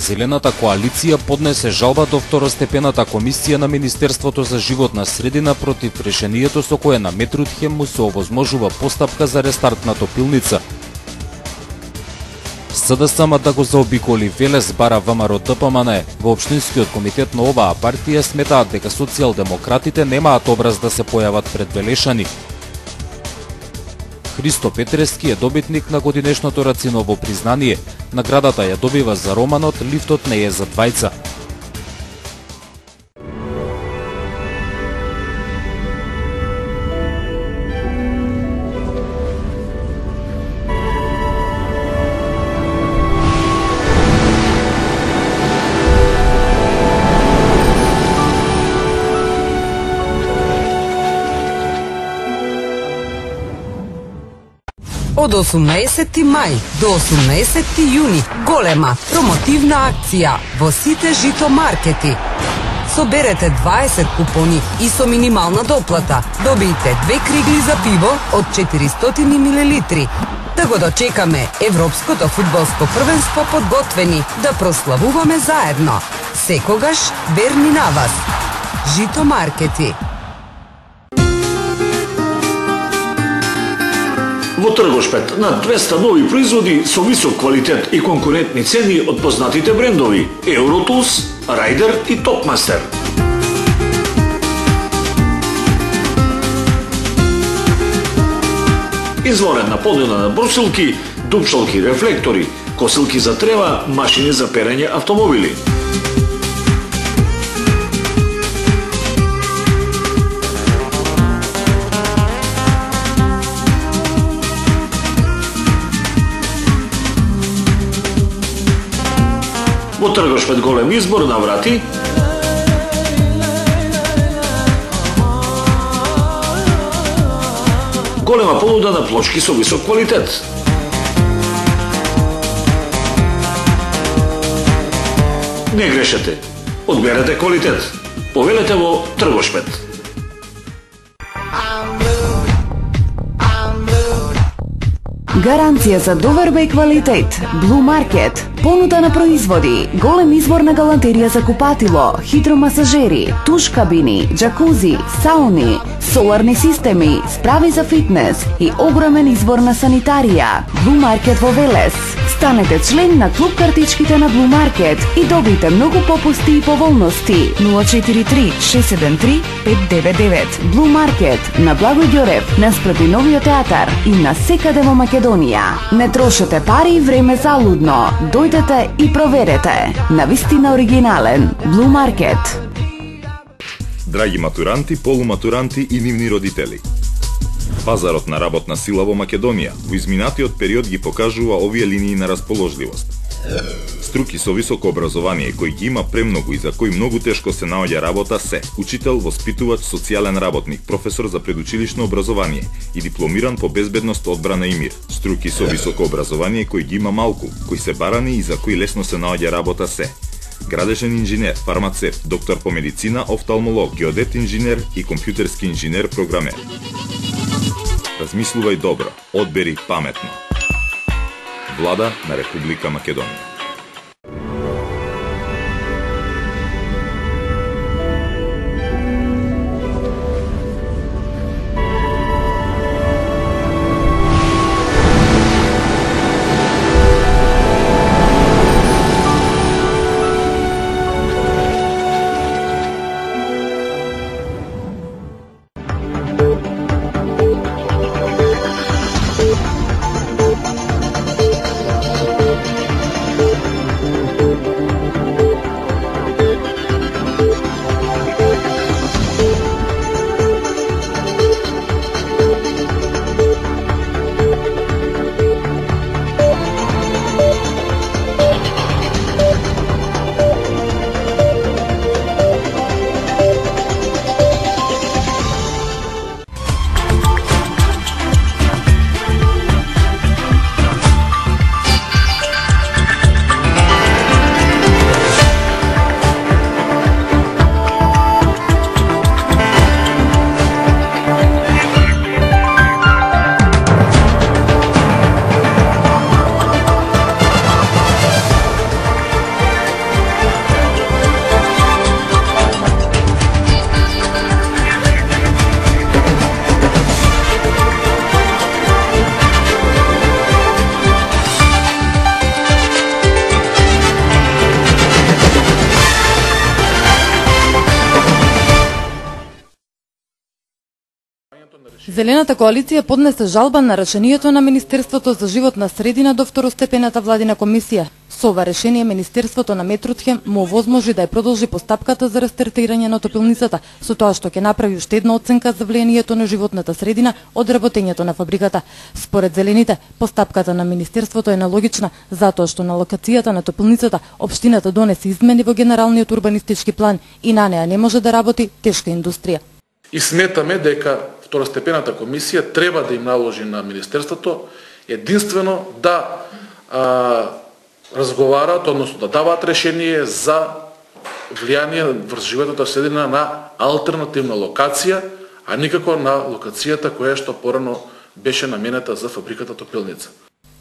Зелената коалиција поднесе жалба до второстепената комисија на Министерството за животна средина против решението со кое на Метрутхем му се овозможува постапка за рестарт на топилница. СДСМ да го заобиколи Велес бара ВМРО-ДПМН. Во општинскиот комитет на оваа партија сметаат дека социјалдемократите немаат образ да се појават пред Велешани. Христо Петрески е добитник на годинешното Рациново признание. Наградата ја добива за романот "Лифтот не е за двајца". Од 18 мај до 18 јуни голема промотивна акција во сите жито маркети. Соберете 20 купони и со минимална доплата добиете 2 кригли за пиво од 400 мл. Да го дочекаме Европското фудбалско првенство подготвени да прославуваме заедно. Секогаш верни на вас. Жито маркети. Во Тргошпет над 200 нови производи со висок квалитет и конкурентни цени од познатите брендови Eurotools, Райдер и Топмастер. Изворена понуда на брусилки, дупшалки, рефлектори, косилки за трева, машини за перење автомобили. Во Тргошпет голем избор на врати, голема понуда на плочки со висок квалитет. Не грешете, одберете квалитет. Повелете во Тргошпет. Гаранција за доверба и квалитет. Blue Market. Понуда на производи, голем избор на галантерија за купатило, хидромасажери, туш кабини, джакузи, сауни, соларни системи, справи за фитнес и огромен избор на санитарија. Blue Market во Велес. Станете член на клуб картичките на Blue Market и добите многу попусти и поволности. 043 673 599. Blue Market на Благој Ѓорев, наспроти Новиот театар и на секаде во Македонија. Не трошете пари и време залудно. Дојдете и проверете. Навистина оригинален. Blue Market. Драги матуранти, полуматуранти и нивни родители. Пазарот на работна сила во Македонија во изминатиот период ги покажува овие линии на расположливост. Струки со високо образование кои ги има премногу и за кои многу тешко се наоѓа работа се учител, воспитувач, социјален работник, професор за предучилишно образование и дипломиран по безбедност, одбрана и мир. Струки со високо образование кои ги има малку, кои се барани и за кои лесно се наоѓа работа се градежен инженер, фармацевт, доктор по медицина, офталмолог, геодет инженер и компјутерски инженер програмер. Размислувај добро, одбери паметно. Влада на Република Македонија. Зелената коалиција поднесе жалба на решението на Министерството за животна средина до второстепената владина комисија. Со ова решение Министерството на Метрутхем му овозможи да ја продолжи постапката за рестартирање на топилницата, со тоа што ќе направи уште една оценка за влијанието на животната средина од работењето на фабриката. Според Зелените, постапката на Министерството е нелогична, затоа што на локацијата на топилницата општината донесе измени во генералниот урбанистички план и на неа не може да работи тешка индустрија. И сметаме дека второстепената комисија треба да им наложи на Министерството единствено да разговараат, односно да даваат решение за влијание врз животната средина на алтернативна локација, а никако на локацијата која што порано беше наменета за фабриката топилница.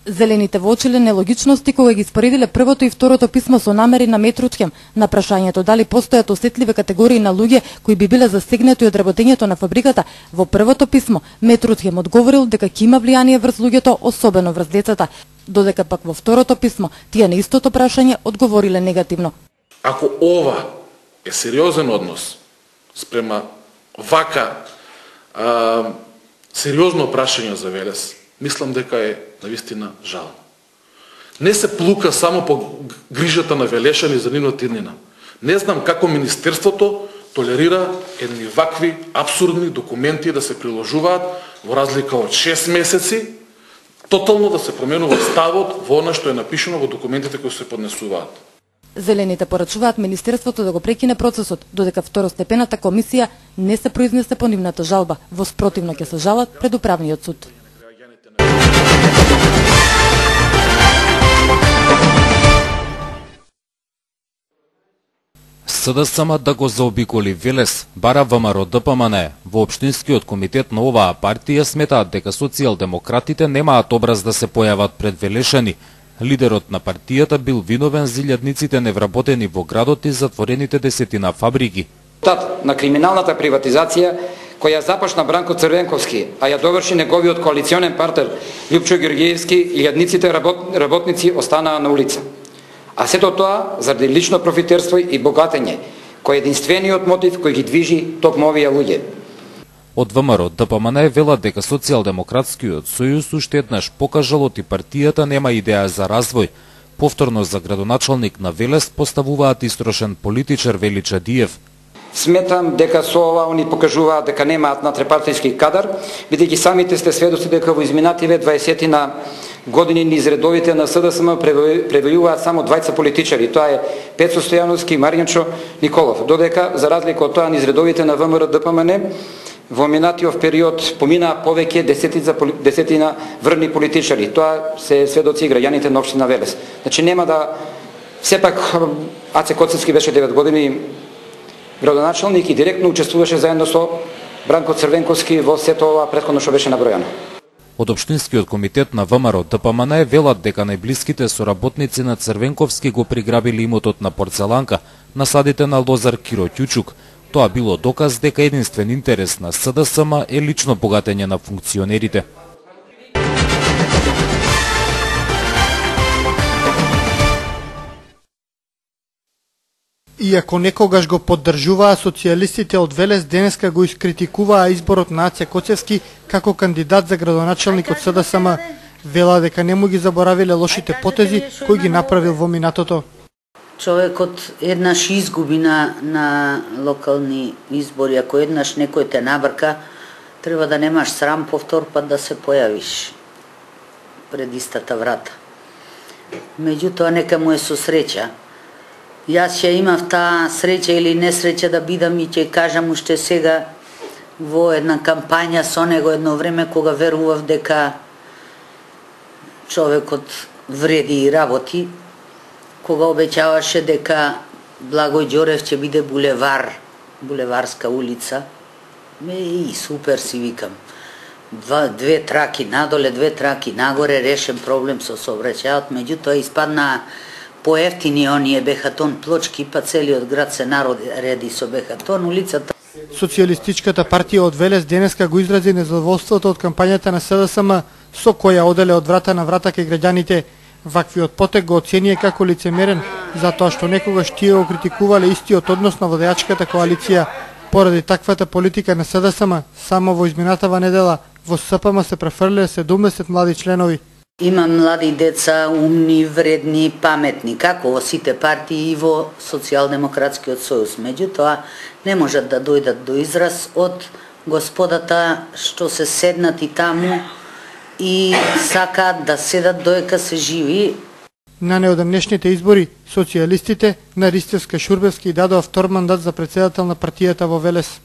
Зелените воочиле нелогичности кога ги споредиле првото и второто писмо со намери на Метрутхем на прашањето дали постојат осетливи категории на луѓе кои би биле засегнати од работењето на фабриката. Во првото писмо Метрутхем одговорил дека ќе има влијание врз луѓето, особено врз децата, додека пак во второто писмо тие на истото прашање одговориле негативно. Ако ова е сериозен однос спрема вака сериозно прашање за Велес, мислам дека е навистина жално. Не се плука само по грижата на Велешани за нивната иднина. Не знам како Министерството толерира едни вакви абсурдни документи да се приложуваат во разлика од 6 месеци, тотално да се променува ставот во она што е напишано во документите кои се поднесуваат. Зелените порачуваат Министерството да го прекине процесот, додека второстепената комисија не се произнесе по нивната жалба. Во спротивно ќе се жалат пред управниот суд. СДСМ да го заобиколи Велес, бара ВМРО ДПМН. Во општинскиот комитет на оваа партија сметаат дека социјалдемократите немаат образ да се појават пред Велешани. Лидерот на партијата бил виновен за илјадниците невработени во градот и затворените десетина фабрики. Тат на криминалната приватизација која започна Бранко Црвенковски, а ја доврши неговиот коалиционен партнер Лјупчо Ѓорѓиевски, илјадниците работници останаа на улица. А сето тоа заради лично профитерство и богатење, кој е единствениот мотив кој ги движи токму овие луѓе. Од ВМРО ДПМН велат дека Социјалдемократскиот сојуз уште еднаш покажал оти партијата нема идеја за развој. Повторно за градоначалник на Велес поставуваат истрошен политичар Вели Чадиев. Сметам дека со ова они покажуваат дека немаат натрепартијски кадар, бидејќи самите сте сведоци дека во изминативе 20 години низ редовите на СДСМ пребројуваат само двајца политичари, тоа е Пецо Стојановски и Марјанчо Николов, додека за разлика од тоа низ редовите на ВМРО ДПМН во минатиот период поминаа повеќе десетина врни политичари. Тоа се сведоци граѓаните на општина Велес. Значи нема да сепак Аце Коцевски беше 9 години градоначалник и директно учествуваше заедно со Бранко Црвенковски во сето ова претходно што беше набројано. Од општинскиот комитет на ВМРО ДПМН велат дека најблиските соработници на Црвенковски го приграбили имотот на Порцеланка, насадите на Лозар Киро Ќучук. Тоа било доказ дека единствен интерес на СДСМ е лично богатење на функционерите. Иако некогаш го поддржуваа, социјалистите од Велес денеска го искритикуваа изборот на Аце Коцевски како кандидат за градоначалник од СДСМ. Вела дека не му ги заборавиле лошите потези кои ги направил во минатото. Човекот еднаш изгуби на локални избори, ако еднаш некој те набрка, треба да немаш срам повтор пат да се појавиш пред истата врата. Меѓутоа нека му е со среќа. Јас ќе имав таа среќа или несреќа да бидам и ќе кажам уште сега во една кампања со него едно време кога верував дека човекот вреди и работи, кога обеќаваше дека Благој Ѓорев ќе биде булевар, булеварска улица. И супер си викам. Две траки надоле, две траки нагоре, решен проблем со сообраќајот, меѓутоа испадна поевтини оние бехатон плочки, па целиот град се нареди со бехатон, улицата. Социјалистичката партија од Велес денеска го изрази незадоволството од кампањата на СДСМ, со која оделе од врата на врата кај граѓаните. Ваквиот потек го оценија како лицемерен, затоа што некогаш тие го критикувале истиот однос на владеачката коалиција. Поради таквата политика на СДСМ, само во изминатава недела во СПМ се префрлиле 70 млади членови. Има млади деца, умни, вредни, паметни, како во сите партии и во Социјалдемократскиот сојуз. Меѓутоа, не можат да дојдат до израз од господата што се седнати таму и сакаат да седат доека се живи. На неодамнешните избори, социјалистите на Ристевска-Шурбевски дадоа втор мандат за претседател на партијата во Велес.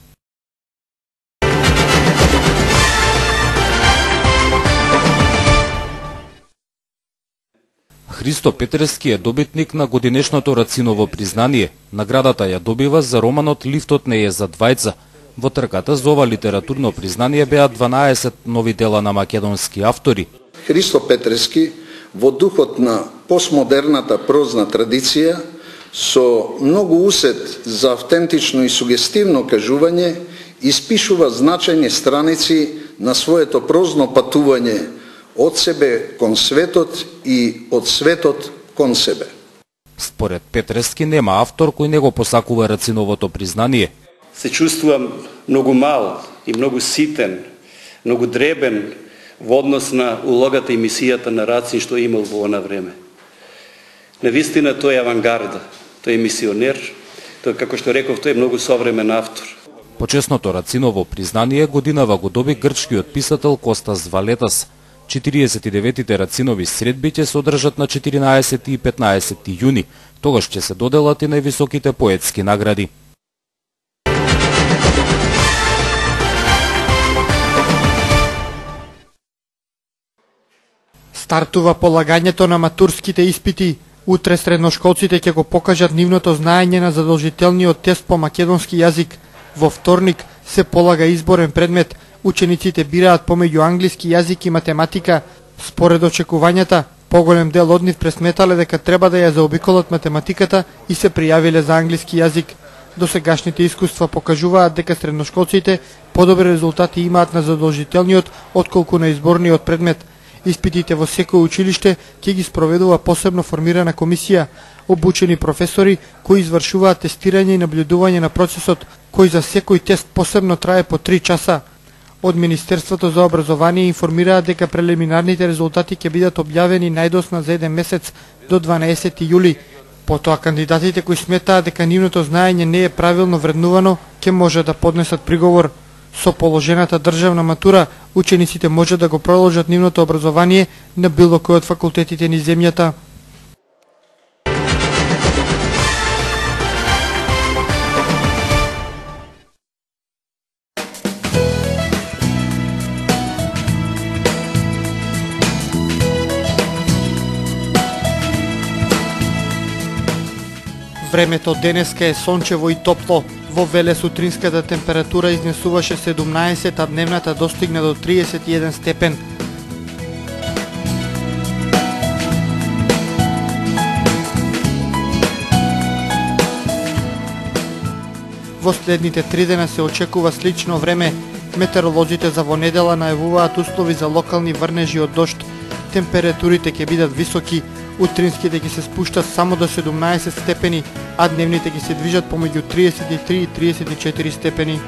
Христо Петерски е добитник на годинешното Рациново признание. Наградата ја добива за романот "Лифтот не е за двајца". Во трката за ова литературно признание беа 12 нови дела на македонски автори. Христо Петерски, во духот на постмодерната прозна традиција, со многу усет за автентично и сугестивно кажување, испишува значајни страници на своето прозно патување од себе кон светот и од светот кон себе. Според Петерски нема автор кој не го посакува Рациновото признание. Се чувствувам многу мал и многу ситен, многу дребен во однос на улогата и мисијата на Рацин што имал во она време. Навистина тој е авангарда, тој е мисионер, тој, како што реков, тој е многу современ автор. Почесното Рациново признание годинава го доби грчкиот писател Костас Валетас. 49-тите Рацинови средби ќе се одржат на 14 и 15 јуни. Тогаш ќе се доделат и највисоките поетски награди. Стартува полагањето на матурските испити. Утре средношколците ќе го покажат нивното знаење на задолжителниот тест по македонски јазик. Во вторник се полага изборен предмет. Учениците бираат помеѓу англиски јазик и математика. Според очекувањата, поголем дел од нив пресметале дека треба да ја заобиколат математиката и се пријавиле за англиски јазик. Досегашните искуства покажуваат дека средношколците подобри резултати имаат на задолжителниот отколку на изборниот предмет. Испитите во секој училиште ќе ги спроведува посебно формирана комисија, обучени професори кои извршуваат тестирање и наблюдување на процесот, кој за секој тест посебно трае по 3 часа. Од Министерството за образование информираат дека прелиминарните резултати ќе бидат објавени најдосна за 1 месец до 12 јули. Потоа кандидатите кои сметаат дека нивното знаење не е правилно вреднувано, ќе може да поднесат приговор. Со положената државна матура, учениците може да го продолжат нивното образование на било кој од факултетите низ земјата. Времето денеска е сончево и топло. Во Велес утринската температура изнесуваше 17, а дневната достигна до 31 степен. Во следните 3 дена се очекува слично време. Метеоролозите за во недела најавуваат услови за локални врнежи од дожд. Температурите ќе бидат високи. Утринските ќе се спуштат само до 17 степени, а дневните ќе се движат помеѓу 33 и 34 степени.